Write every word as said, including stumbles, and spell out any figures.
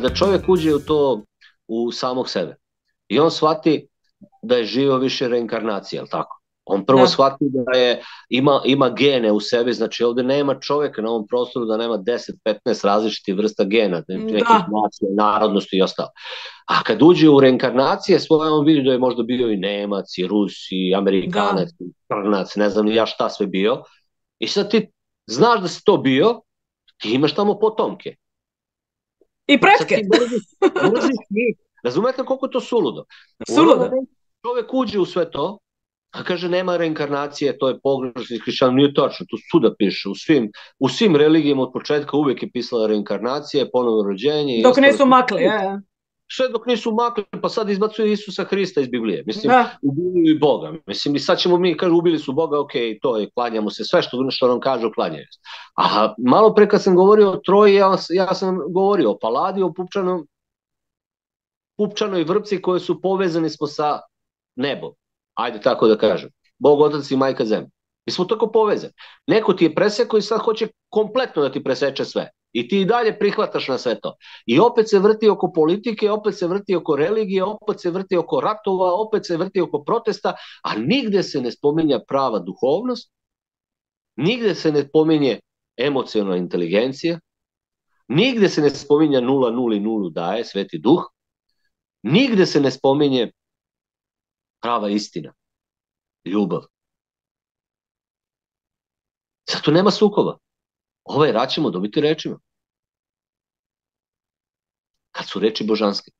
kada čovjek uđe u to, u samog sebe, i on shvati da je živio više reinkarnacije, jel tako? On prvo Da. shvati da je, ima, ima gene u sebi, znači ovdje nema čovjeka na ovom prostoru da nema deset petnaest različitih vrsta gena, nekih Da. nacija, narodnosti i ostalo. A kad uđe u reinkarnacije svoje, on vidi da je možda bio i Nemac, i Rus, i Amerikanac, Da. i Crnac, ne znam ni ja šta sve bio. I sad ti znaš da si to bio, ti imaš tamo potomke. I Sad pretke. ti mrziš, mrziš njih. Razumete koliko je to suludo? U onom Suludo. momentu čovjek uđe u sve to, a kaže nema reinkarnacije, to je pogrešno, hrišćan, nije tačno, tu svuda piše, u svim, u svim religijama od početka uvijek je pisala reinkarnacija, ponovno rođenje i Dok ostalo. nisu makli, je. Sve dok nisu makli, pa sad izbacuju Isusa Hrista iz Biblije. Mislim, Da. ubili i Boga. Mislim, i sad ćemo mi, kažu, ubili su Boga, ok, to je, klanjamo se, sve što, što nam kažu, klanjaju se. A malo pre kad sam govorio o Troji, ja, ja sam govorio o Paladi, o Pupčanom, Pupčanoj vrpci koje su povezani smo sa nebom. Ajde tako da kažem. Bog, Otac i Majka Zemlja. Mi smo tako povezani. Neko ti je presekao i sad hoće kompletno da ti preseče sve. I ti i dalje prihvataš na sve to. I opet se vrti oko politike, opet se vrti oko religije, opet se vrti oko ratova, opet se vrti oko protesta, a nigde se ne spominja prava duhovnost, nigde se ne spominje emocionalna inteligencija, nigde se ne spominja nula, nuli, nulu daje, Sveti Duh, nigde se ne spominje prava istina, ljubav. Zato nema sukoba. Ovaj rat ćemo dobiti rečima. Kad su reči božanske.